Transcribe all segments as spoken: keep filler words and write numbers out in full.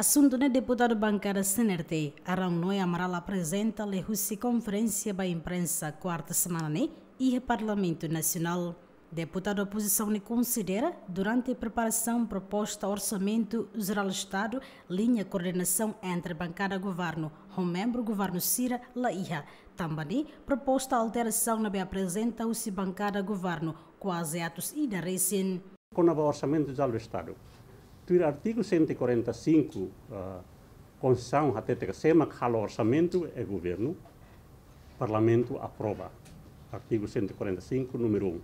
Asuntu ne'e deputadu bankada C N R T, Arão Noé Amaral aprezenta liuhusi konferénsia ba imprensa kuarta semana ne'e iha Parlamentu Nasionál. Deputadu opozisaun ne'e konsidera, durante preparasaun proposta Orsamentu Jerál Estadu, liña koordenasaun entre bankada governu ho membru governu sira la iha. Tanba ne'e, proposta alterasaun ne'ebé aprezenta husi bankada governu kuaze atus ida resin. Kona-ba Orsamentu Jerál Estadu, tuir artigu cento e quarenta e cinco, ah, Konstituisaun hatete katak sé mak halo orsamentu é governu, Parlamentu aprova. Artigu cento e quarenta e cinco, númeru um.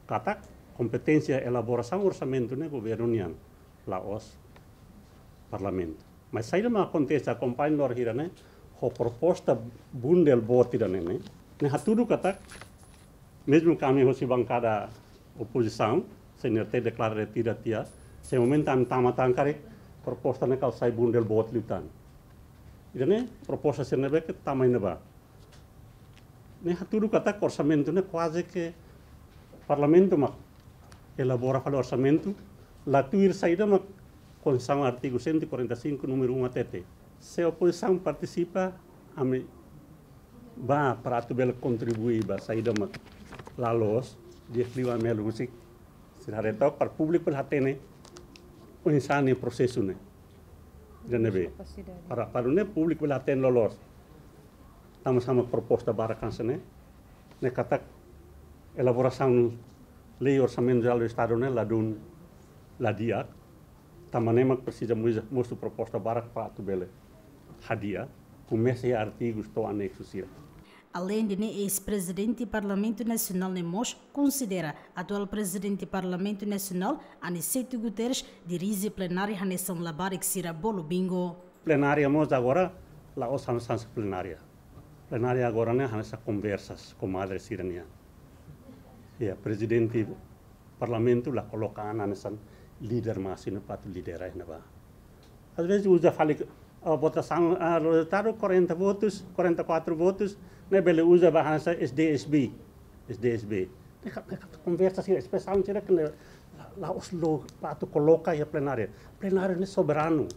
Katak kompeténsia elaborasaun orsamentu ne'e governu nian, la'ós Parlamentu. Mas saida mak akontese, akompaña loron hira ne'e, ho proposta bundle boot ida ne'e, ne'e, ne'e hatudu katak, mezmu ke ami hosi bankada opozisaun, C N R T deklara retira tiha, se momentu ami tama tan karik, proposta ne'e kala sai bundle boot liután. Ida ne'e proposta sira ne'ebé ke tama iha ne'ebá. Ne'e hatudu katak orsamentu ne'e kuaze ke Parlamentu mak elabora fali orsamentu, la tuir saida mak Konstituisaun artigu cento e quarenta e cinco, númeru um hatete. Se opozisaun partisipa, ami bá para atu bele kontribui ba saida mak la loos, di'ak liu ami halo husik, sira haree took para públiku bele hatene oinsá ne'e prosesu ne'e. Ida ne'ebé. Para, para ne'e públiku bele hatene loloos. Tanba sá mak proposta barak hanesan ne'e, ne'e katak elaborasaun lei Orsamentu Jerál Estadu ne'e ladún, la di'ak, tanba ne'e mak presiza mós, mosu proposta barak para atu bele hadi'a, komesa iha artigus to'o aneksu sira. Aleinde ne'e, eis-prezidente Parlamentu Nasionál ne'e mós konsidera atuál prezidente Parlamentu Nasionál, Aniceto Guterres, dirije plenária hanesan labarik sira bolu bingo. Plenária mós agora la'ós hanesan plenária. Plenária agora ne'e hanesan konversa komadre sira nian. Ya, prezidente Parlamentu la koloka an hanesan líder másimu para atu lidera iha ne'ebá. Às vezes uza fali, ah, votasaun, ah, rezultadu quarenta votus, quarenta e quatro votus, ne'e bele uza ba hanesan S D S B, S D S B. Ne'e ka, ne'e ka konversa sira, espresaun sira ke ne'e la, la'ós loos para atu koloka iha plenária. Plenária ne'e soberanu.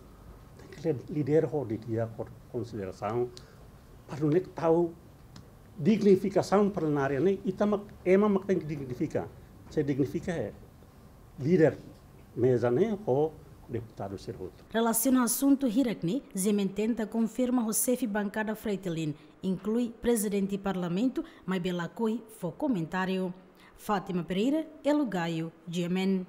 Tenke li-, lidera ho di'ak, ho konsiderasaun. Para nune'e tau dignifikasaun plenária ne'e, ita mak, ema mak tenke dignifika. Se dignifika é líder meza ne'e ho deputadu sira hotu. Relasiona asuntu hirak ne'e, G M N tenta konfirma ho xefe bankada Fretilin, inklui prezidente Parlamentu, maibé lakohi fó komentáriu. Fátima Pereira, Elo Gaio, G M N.